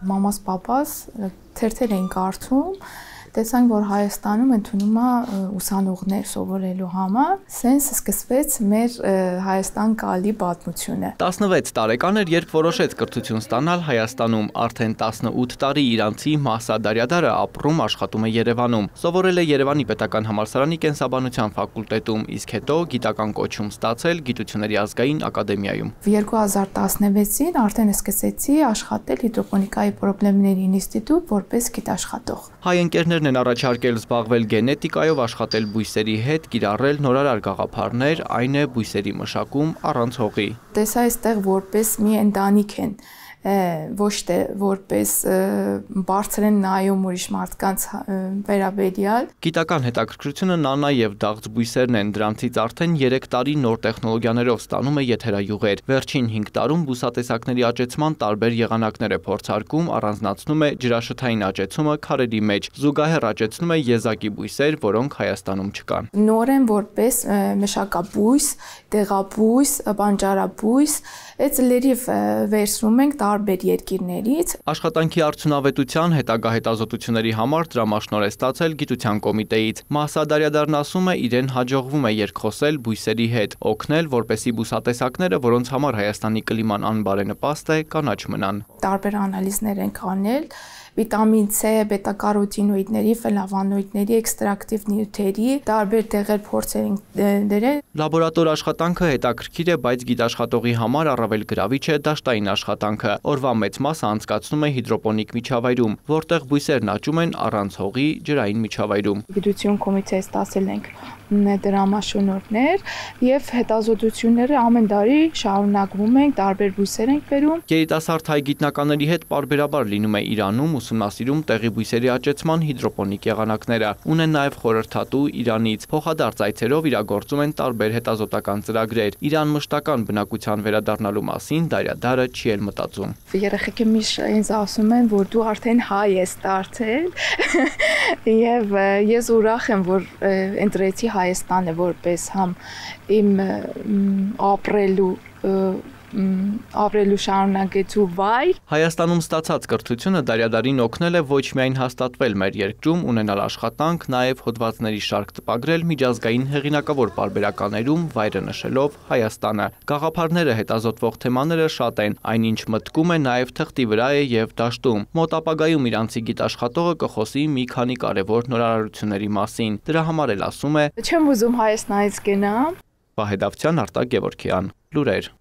Մամաս, պապաս թերթեր էին կարդում, տեսանք, որ Հայաստանում ընդունում է ուսանողներ սովորելու համար, սենց սկսվեց մեր Հայաստան գալի պատմությունը։ 16 տարեկան էր, երբ որոշեց կրթություն ստանալ Հայաստանում, արդեն 18 տարի իրանցի Մահսա Դարյադարը ապրում աշխատում է Երևանում, սովորել է Երևանի պետական համալսարանի կենսաբանության ֆակուլտետում, իսկ հետո գիտական կոչում ստացել Գիտությունների ազգային ակադեմիայում։ 2016-ին արդեն սկսեցի աշխատել հիդրոպոնիկայի պրոբլեմների ինստիտուտ որպես գիտաշխատող։ Հայ ընկերներն են առաջարկել զբաղվել գենետիկայով, աշխատել բույսերի հետ, կիրառել նորարար գաղափարներ, այն է բույսերի մշակում առանց հողի։ Տեսա այստեղ որպես մի ընտանիք են, ոչ թե որպես բարձր են նայում ուրիշ մարդկանց վերաբերյալ։ Գիտական հետաքրքրությունը նանա եւ դաղձ բույսերն են, դրանցից արդեն 3 տարի նոր տեխնոլոգիաներով ստանում է եթերայուղեր։ Վերջին 5 տարում բուսատեսակների աճեցման տարբեր եղանակներ է փորձարկում, առանձնացնում է ջրաշթային աճեցումը քարերի մեջ, զուգահեռ աճեցնում է եզակի բույսեր, որոնք Հայաստանում չկան։ Նոր են որպես մշակաբույս, դեղաբույս, բանջարաբույս, այդ լրիվ վերցնում ենք տարբեր երկիրներից։ Աշխատանքի արդյունավետության հետագա հետազոտությունների համար դրամաշնոր է ստացել գիտության կոմիտեից։ Մահսա Դարյադարն ասում է, իրեն հաջողվում է երկխոսել բույսերի հետ, օգնել, որպեսզի բուսատեսակները, որոնց համար Հայաստանի կլիման անբարենպաստ է, կանաչ մնան։ Տարբեր անալիզներ ենք անել, վիտամին C, բետա-կարոտինոիդների, ֆլավոնոիդների, էքստրակտիվ նյութերի, տարբեր տեղեր փորձեր ենք դրել։ Լաբորատոր աշխատանքը հետաքրքիր է, բայց գիտաշխատողի համար առավել գրավիչ է դաշտային աշխատանքը։ Օրվա մեծ մասը անցկացնում է հիդրոպոնիկ միջավայրում, որտեղ բույսերն աճում են առանց հողի ջրային միջավայրում։ Գիտություն կոմիտեից ստացել ենք դրամաշնորհներ եւ հետազոտությունները ամեն տարի շարունակվում են, տարբեր բույսեր ենք բերում։ Երիտասարդ հայ գիտնականների հետ պարբերաբար լինում է Իրանում, ուսումնասիրում տեղի բույսերի աճեցման հիդրոպոնիկ եղանակները, ունեն նաև խորհրդատու Իրանից, փոխադարձ այցերով իրագործում են տարբեր հետազոտական ծրագրեր։ Իրան մշտական բնակության վերադառնալու մասին Դարյադարը չի էլ մտածում։ Երեխեքը միշտ ինձ ասում են, որ դու արդեն հայ ես դարձել, եւ ես ուրախ եմ, որ ընտրեցի Հայաստանը որպես համ իմ ապրելու շարունակեցու վայր։ Հայաստանում ստացած կրթությունը Դարյադարին օգնել է ոչ միայն հաստատվել մեր երկրում, ունենալ աշխատանք, նաև հոդվածների շարք տպագրել միջազգային հեղինակավոր պարբերականներում, վայրը նշելով Հայաստանը։ Գաղափարները, հետազոտվող թեմաները շատ են, այնինչ մտքում է նաև թղթի վրա է եւ դաշտում։ Մոտ ապագայում իրանցի գիտաշխատողը կխոսի մի քանի կարևոր նորարարությունների մասին։ Դրա համար էլ ասում է. Չեմ ուզում Հայաստանից գնամ։ Վահե Դավթյան, Արտակ Գևորգյան, լուրեր։